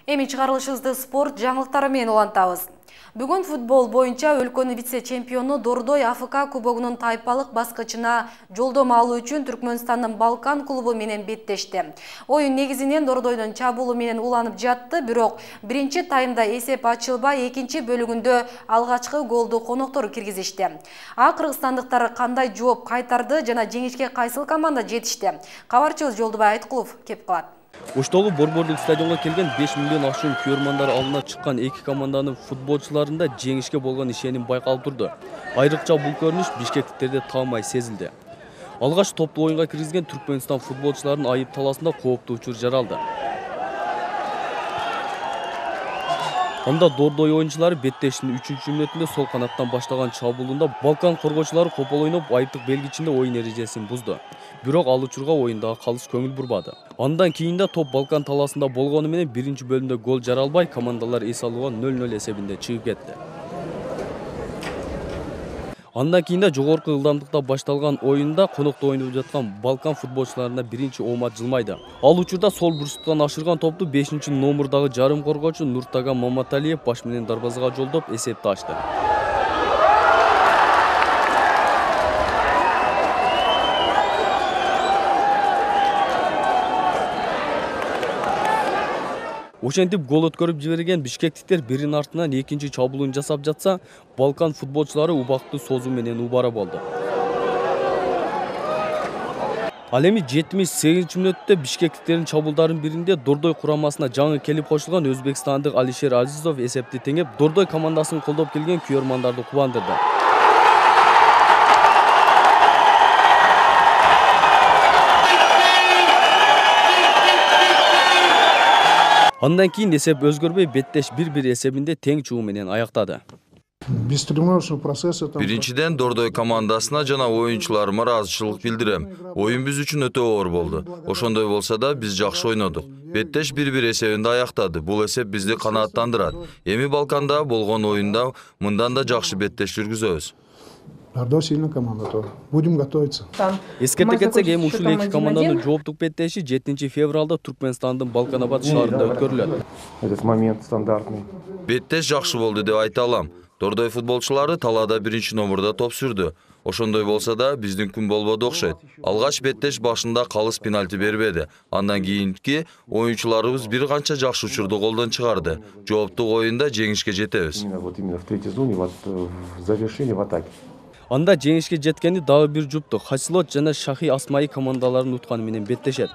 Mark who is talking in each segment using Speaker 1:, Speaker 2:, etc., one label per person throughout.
Speaker 1: Эми чыгарылышыбызды спорт жаңылыктары менен улантабыз. Бүгүн футбол боюнча өлкөнүн вице-чемпиону Дордой АФК кубогунун тайпалык баскычына жолдомо алуу үчүн Түркмөнстандын Балкан клубу менен беттешти. Оюн негизинен Дордойдун чабуулу менен уланып жатты, бирок биринчи таймда эсеп ачылбай, экинчи бөлүгүндө алгачкы голду коноктор киргизишти. А кыргызстандыктар кандай жооп кайтарды жана жеңишке кайсыл команда жетишти? Кабарчыбыз Жолдубай Айткулов кеп калат.
Speaker 2: Оштогу борбордук стадионго келген 5 миллион ашуун көрөрмандар алдына чыккан эки команданын футболчуларында жеңишке болгон ишеним байкалып турду. Айрыкча бул көрүнүш бишкектиктерде таамай сезилди. Алгач топту оюнга киргизген Түркмөнстан футболчуларынын айып талаасында кооптуу учур жаралды. Анда Дордой оюнчулары беттештин 3-мүнөтүндө сол канаттан баштаган чабуулунда Балкан коргоочулары копол ойноп айыптык белгичинде оюн эрежесин бузду. Бирок ал учурга оюндагы калыс көңүл бурбады. Андан кийин да топ Балкан талаасында болгону менен биринчи бөлүмдө гол жаралбай, командалар эс алууга 0-0 эсебинде чыгып кетти. Андан кийин да жогорку ылдамдыкта башталган оюнда конокто ойноп жаткан Балкан футболчуларына биринчи оомат жылмайды. Ал учурда сол бурчтуктан ашырган топту 5-номурдагы жарым коргоочу Нуртаган Маматалиев баш менен дарбазага жолдоп эсепти ачты. Ошентип гол өткөрүп жиберген бишкектиктер биринин артынан экинчи чабуулун жасап жатса, Балкан футболчулары убакытты созуу менен убара болду. Ал эми 78-мүнөттө бишкектиктердин чабуулдарынын биринде Дордой курамасына жаңы келип кошулган өзбекстандык Алишер Азизов эсепти теңеп, Дордой командасын колдоп келген күйөрмандарды кубандырды. Андан кийин эсеп өзгөрбөй беттеш 1-1 эсебинде тең чуу менен аяктады.
Speaker 3: Биринчиден Дордой командасына жана оюнчуларыма ыраазычылык билдирем. Оюн биз үчүн өтө оор болду. Ошондой болсо да биз жакшы ойнодук. Беттеш 1-1 эсебинде аяктады. Бул эсеп бизди канааттандырат. Эми Балканда болгон оюнда мындан да жакшы беттеш жүргүзөбүз.
Speaker 4: Сильная команда тоже. Будем готовиться.
Speaker 2: Эскерте кетсек, эми ушул эки команданын жооптук беттеши 7 февралда Түркмөнстандын Балканабад шаарында өткөрүлөт.
Speaker 4: Этот момент стандартный.
Speaker 3: Беттеш жакшы болду деп айта алам. Дордой футболчулары талаада биринчи номурда топ сүрдү. Ошондой болсо да биздин күн болбоду окшойт. Алгач беттеш башында калыс пенальти бербеди. Андан кийинки оюнчуларыбыз бир канча жакшы учурду колдон чыгарды. Жооптук оюнда жеңишке жетебиз.
Speaker 4: Именно в третьей зоне завершили в атаке.
Speaker 2: Анда жеңишке жеткени дагы бир жупту Хасилот жана Шахи Асмаи командаларын утканы менен беттешет.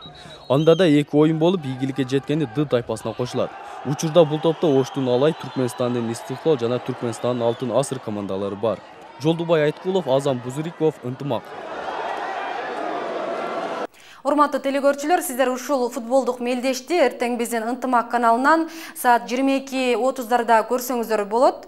Speaker 2: Анда да эки оюн болуп, ийгиликке жеткени Д тайпасына кошулат. Учурда бул топто Оштун Алай, Түркмөнстандын Истихлол жана Түркмөнстандын Алтын Асыр командалары бар. Жолдубай Айткулов, Азам Бузуриков, Ынтымак.
Speaker 1: Урматтуу телекөрүүчүлөр, сиздер ушул футболдук мелдешти эртең биздин Ынтымак каналынан саат 22:30 көрсөңүздөр болот.